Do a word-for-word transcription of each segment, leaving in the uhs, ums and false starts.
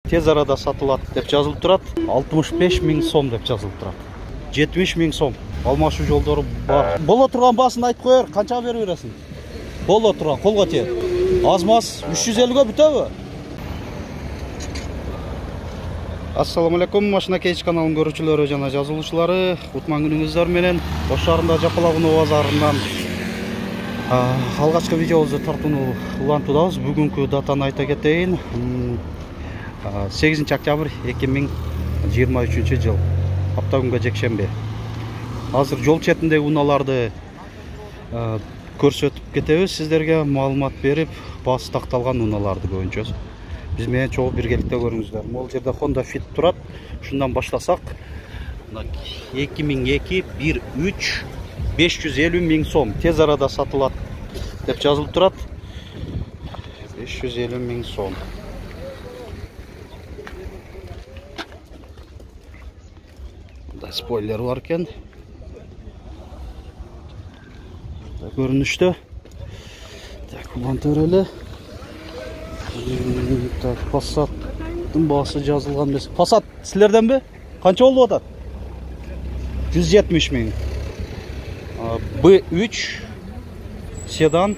тез арада сатылат деп жазылып турат. алтымыш беш миң сом деп жазылып турат. жетимиш миң сом. Алмашуу жолдору бар. Боло турган баасын айтып коер, канчага берип бересиң? Боло турган, колго тиет. Аз-маз үч жүз элүүгө бүтөбү? Ассаламу алейкум, Машина Кейч каналынын көрүүчүлөрү жана жазылуучулары. Кутман күнүңүздөр менен Ош шаарында Жапалакуноо базарынан алгачкы видеобузду тартууну улантуудабыз. Бүгүнкү датаны айта кетейин. сегизинчи октябрь эки миң жыйырма үчүнчү жыл. Апта күнгө жекшемби. Азыр жол четиндеги унааларды көрсөтүп кетебиз сиздерге, маалымат берип, баасы такталган унааларды көбүнчө. Биз менен чогуу биргеликте көрүңүздөр. Могул жерде Honda Fit турат. Ушундан баштасак, эки миң эки бир үч беш жүз элүү миң сом тез арада сатылат деп жазылып турат. беш жүз элүү миң сом. Мындай спойлер бар экен. Көрүнүштө. Так, улантып эле. Так, Passat'тын баасы жазылган эмес. Passat силерденби? Канча болуп атат? жүз жетимиш миң. бэ үч седан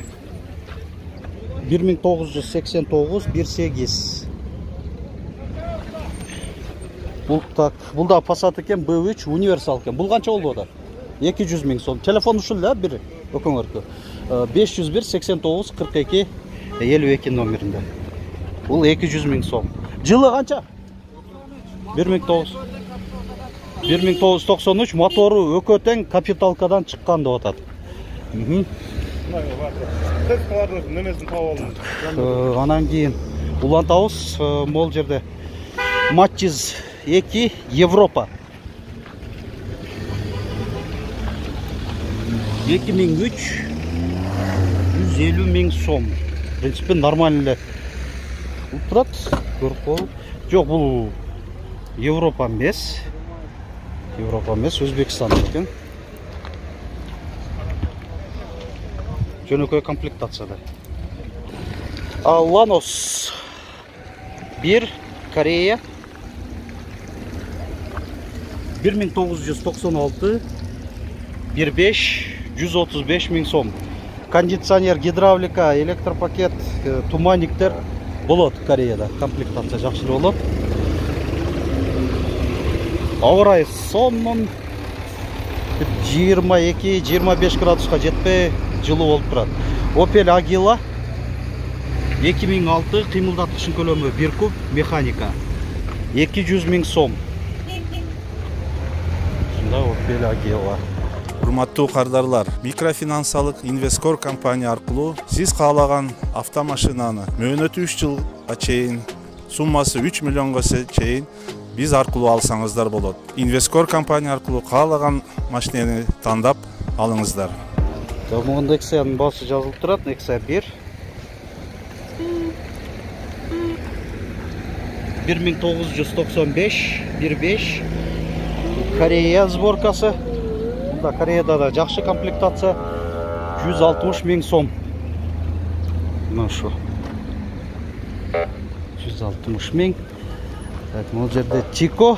бир миң тогуз жүз сексен тогуз бир сегиз. Бул так, бул да Passat экен, бэ үч универсал экен. Бул канча болуп атат? эки жүз миң сом. Телефон ушул эле, бир өкөңөркө. беш жүз бир сексен тогуз кырк эки элүү эки номеринде. Бул эки жүз миң сом. Жылы канча? бир миң тогуз жүз токсон үч, мотору өкө тең, капиталкадан чыккан деп атат. Анан кийин улантабыз, могул жерде Matiz эки Европа. эки миң үч жүз элүү миң сом. В принципе, нормально эле турат. Көрүп коелу. Жок, бул Европа эмес. Европа эмес, Өзбекстан экен. Жөнөкөй комплектацияда. Lanos бир Корея. бир миң тогуз жүз токсон алты бир беш жүз отуз беш миң сом. Кондиционер, гидравлика, электропакет, туманниктер болот Кореяда. Комплектация жакшы болот. Ауа райы сонун жыйырма эки жыйырма беш градуска жетпей жылуу болуп турат. Opel Agila эки миң алты, кыймылдаткычын көлөмү бир куб, механика. эки жүз миң сом. Ушунда Opel Agila. Урматтуу кардарлар, микрофинансалык Инвескор компания аркылуу сиз каалаган автомашинаны мөөнөтү үч жылга чейин, суммасы үч миллионго чейин биз аркылуу алсаңыздар болот. Инвескор компания аркылуу каалаган машинени тандап алыңыздар. Мында Nexia баасы жазылып турат, Nexia бир. бир миң тогуз жүз токсон беш бир беш. Корея сборкасы. Мында Кореяда да жакшы комплектация. жүз алтымыш миң сом. Мына шу. жүз алтымыш миң. Могул жерде Тико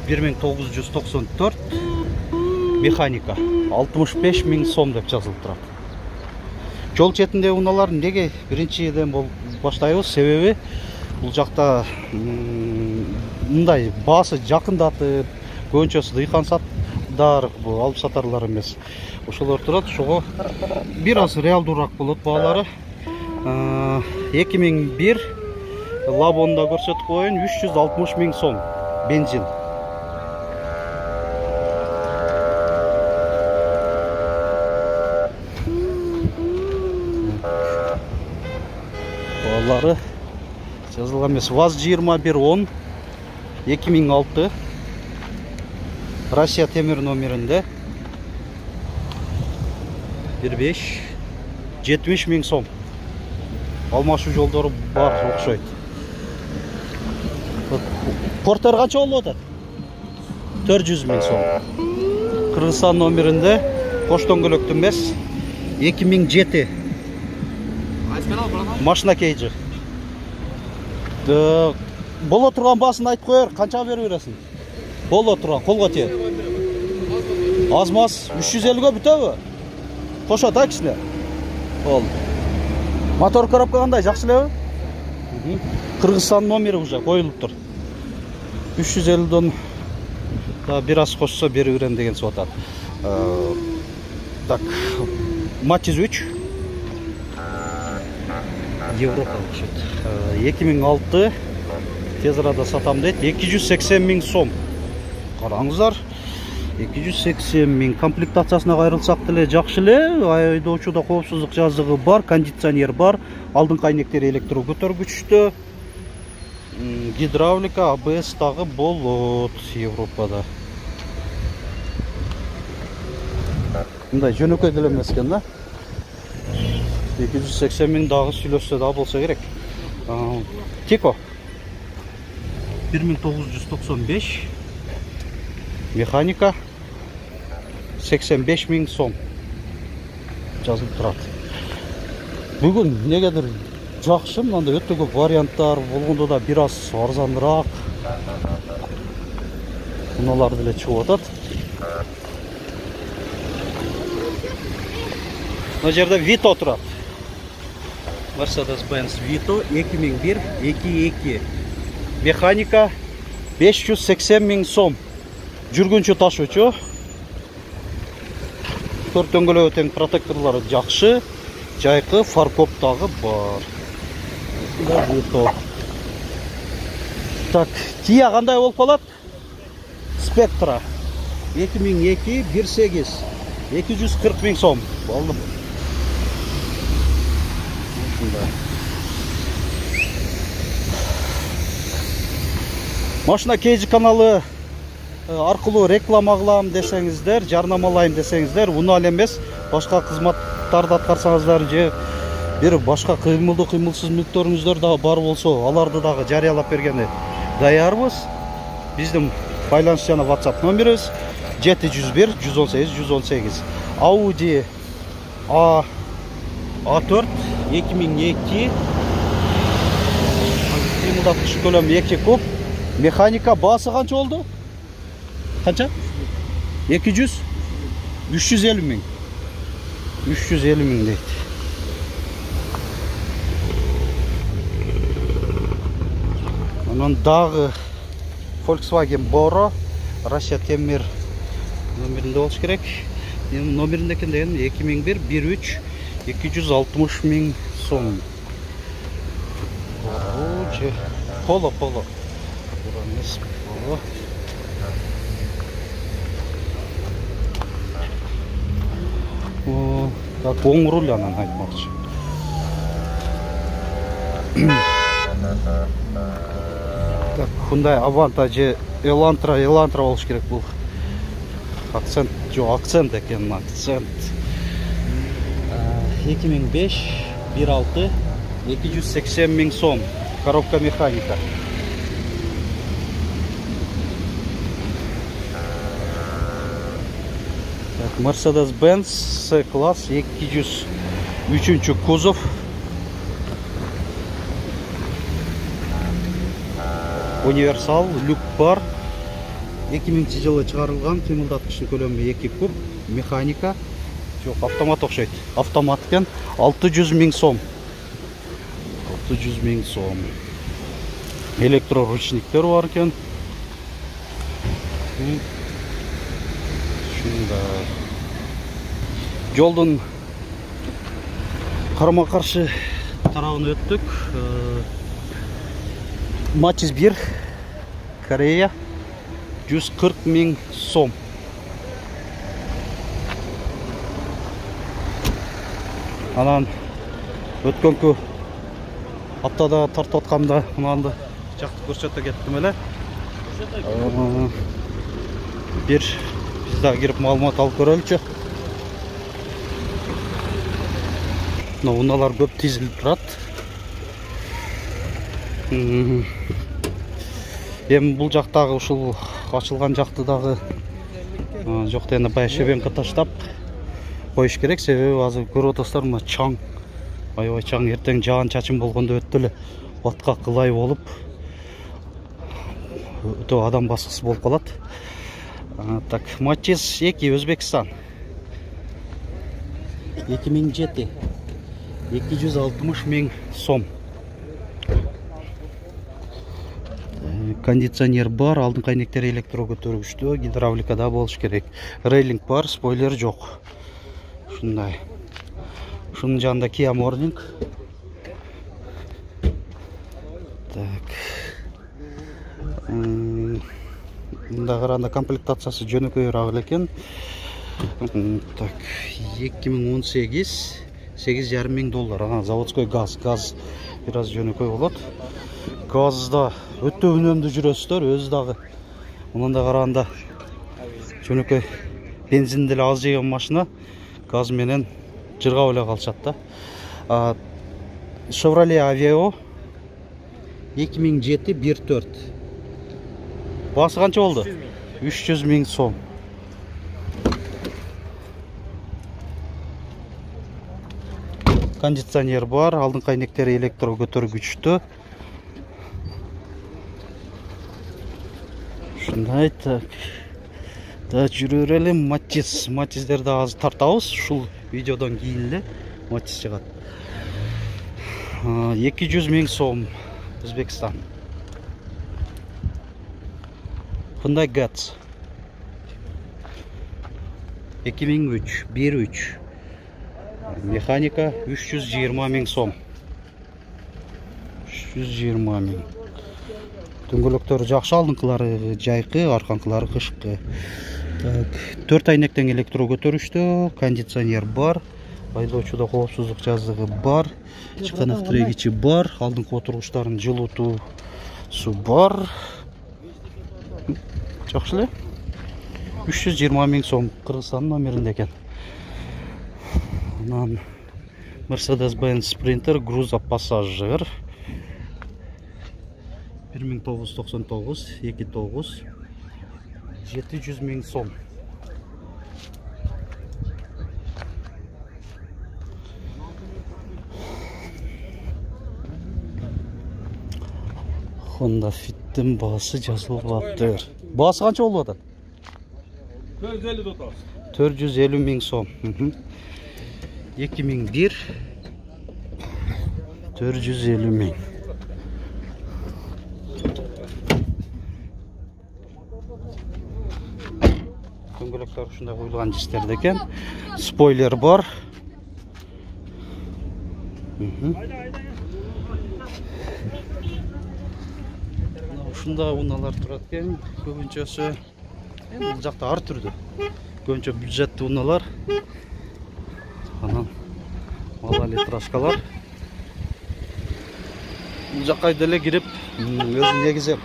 бир миң тогуз жүз токсон төрт механика алтымыш беш миң сом деп жазылып турат. Жол четинде унаалар неге биринчиден баштайбыз? Себеби бул жакта мындай баасы жакындатып, көбүнчөсү дыйкан сатдар, бул алып сатарлар эмес. Ошолор турат, ошого бир аз реалдуураак болот баалары. эки миң бир Лабонда көрсөтүп коеюн, үч жүз алтымыш миң сом бензин. Баалары жазылган эмес. ВАЗ жыйырма бир он эки миң алты Россия темир номеринде бир беш жетимиш миң сом. Алмашуу жолдору бар окшойт. Портер канча болуп атат? төрт жүз миң сом. Кыргызстан номеринде кош дөңгөлөктүү эмес, эки миң жети. Машина Кейджи. боло турган баасын айтып коер, канчага берип бересиң? Боло турган, колго тие. Аз маз үч жүз элүүгө бүтөбү? Кошот а кичине. Болду. Мотор коробка кандай, жакшы элеби? Кыргызстан номери уже коюлуптур. үч жүз элүүдөн да бир аз кошсо берип берем деген соң атат. Так, Матиз үч. Европа окшойт. эки миң алты тез арада сатам дейт. эки жүз сексен миң сом. Караңыздар. эки жүз сексен миң. Комплектациясына кайрылсак деле жакшы эле. Айдоочуда коопсуздук жазыгы бар, кондиционер бар, алдыңкы айнектери электро көтөргүчтө. Гидравлика, а бэ эс дагы болот Европада. Мындай жөнөкөй деле эмес экен да. эки жүз сексен миң дагы сүйлөшсө да болсо керек. Тико бир миң тогуз жүз токсон беш. Механика сексен беш миң сом жазылып турат. Бүгүн негедир жакшы, мындай өтө көп варианттар болгондо да бир аз арзаныраак унаалар деле чыгып атат. Мына жерде Vito турат. Mercedes-Benz Vito эки миң бир эки эки. Механика беш жүз сексен миң сом. Жүргүнчү ташуучу. Төрт дөңгөлөгү тең, протекторлору жакшы. Жайкы фаркоп дагы бар. Vito. Так, Kia кандай болуп калат? Spectra эки миң эки бир сегиз. эки жүз кырк миң сом. Болду. Машина Кейджи каналы аркылуу реклама кылам десеңиздер, жарнамалайм десеңиздер, унаал эмес, башка кызматтарды аткарсаңыздар же бир башка кыймылдуу кыймылсыз мүлктөрүңүздөр да бар болсо, аларды дагы жарыялап бергенди даярбыз. Биздин байланыш жана WhatsApp номерибиз жети жүз бир жүз он сегиз жүз он сегиз. Audi A A4 эки миң эки. Кыймылдаткыч көлөмү эки куб. Механика баасы канча болду? Канча? эки жүз үч жүз элүү миң. үч жүз элүү миң дейт. Анан дагы Volkswagen Boro, Россия темир номеринде болуш керек. Номеринде экен деген эки миң бир бир үч эки жүз алтымыш миң сом. Поло, поло. Поло. О, так оң руль анан айтмакчы. Так, Hyundai Avanta же Elantra, Elantra болуш керек бул. Акцент, жок, акцент экен, акцент. эки миң беш бир алты эки жүз сексен миң сом. Коробка механика. Так, Mercedes-Benz C-класс эки жүз үчүнчү кузов. Универсал, люк бар. эки миңинчи жылы чыгарылган, кыймылдаткычтын көлөмү эки куб, механика. Жок, автомат окшойт. Автомат экен, алты жүз миң сом. алты жүз миң сом. Электроручниктер бар экен. Шунда. Жолдун карама-каршы тарабына өттүк. Матиз бир, Корея, жүз кырк миң сом. Анан өткөнкү аптада тартып атканда мынанды жакты көрсөтө кеттим эле. Бир биз да кирип маалымат алып көрөлүчү. Мына унаалар көп тизилип турат. Эми бул жактагы ушул ачылган жакты дагы жок дегенде баягы шебенка таштап коюш керек, себеби азыр көрүп атасыздар, мына чаң, аябай чаң, эртең жаан чачын болгондо өтө эле баткак кылай болуп өтө адам баскысы болуп калат. Так, Матис эки Өзбекстан. эки миң жети. эки жүз алтымыш миң сом. Кондиционер бар, алдын кайнектери электро көтөргүчтүү, гидравликада болуш керек. Рейлинг бар, спойлер жок. Ушундай. Ушунун жанында Kia Morning. Так. Мында караганда комплектациясы жөнөкөйрөөк экен. Так, эки миң он сегиз, сегиз жарым миң доллар. Ага, заводской газ, газ бир аз жөнөкөй болот. Газда өтө үнөмдүү жүрөсүздөр, өзү дагы. Мында караганда жөнөкөй бензин деле аз жеген машина газ менен жыргап эле калышат да. Chevrolet Aveo эки миң жети бир төрт. Басы канча болду? үч жүз миң сом. Кондиционер бар, алдын кайнектери электро көтөргүчтүү. Ушундай, так. Да, жүрө берели. Матис, Матиздерди азыр тартабыз. Ушул видеодон кийин эле Матис чыгат. эки жүз миң сом, Өзбекстан. Hyundai Getz. эки миң үч, бир үч. Механика үч жүз жыйырма миң сом. үч жүз жыйырма миң. Дөңгөлөктөрү жакшы, алдыңкылары жайкы, арканкылары кышкы. Так, төрт айнектен электро көтөрүштүү, кондиционер бар, айдоочуда коопсуздук жазыгы бар, чыканак тирегичи бар, алдыңкы отургучтардын жылуутуусу бар. Жакшы эле. үч жүз жыйырма миң сом, Кыргызстандын номеринде экен. Анан Mercedes-Benz Sprinter грузопассажир бир миң тогуз жүз токсон тогуз, эки тогуз, жети жүз миң сом. Honda Fit'in баасы жазылып атыр. Баасы канча болуп атат? төрт жүз элүү миң сом. эки миң бир, төрт жүз элүү миң. Дөңгөлөктөр ушундай коюлган жистерде экен. Спойлер бар. Ушундай унаалар турат экен. Көбүнчөсү бул жакта ар түрдүү. Көбүнчө бюджеттүү унаалар. Анан малолитражкалар. Бул жакка деле кирип, өзү негизи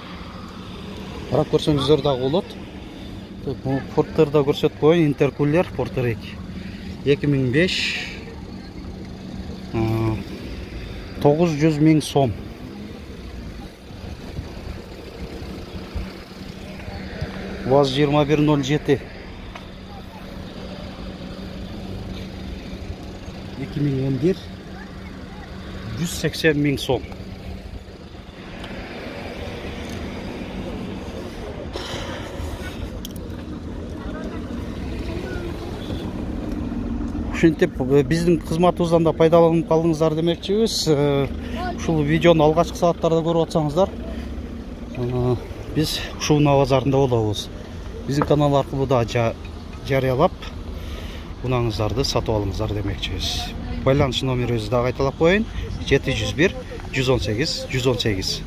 карап көрсөңүздөр дагы болот. Бул Porter'да көрсөтүп коеюн, интеркулер Porter эки. эки миң беш, тогуз жүз миң сом. ВАЗ жыйырма бир ноль жети. эки миң он бир, жүз сексен миң сом. Ушинтип биздин кызматыбыздан да пайдаланып калдыңыздар демекчибиз. Ушул видеону алгачкы сааттарда көрүп атсаңыздар, биз ушул унаа базарында болобуз. Биздин канал аркылуу да жарыялап унаңыздарды сатып алыңыздар демекчибиз. Байланыш номерибизди дагы кайталап коеюн: жети жүз бир, жүз он сегиз, жүз он сегиз.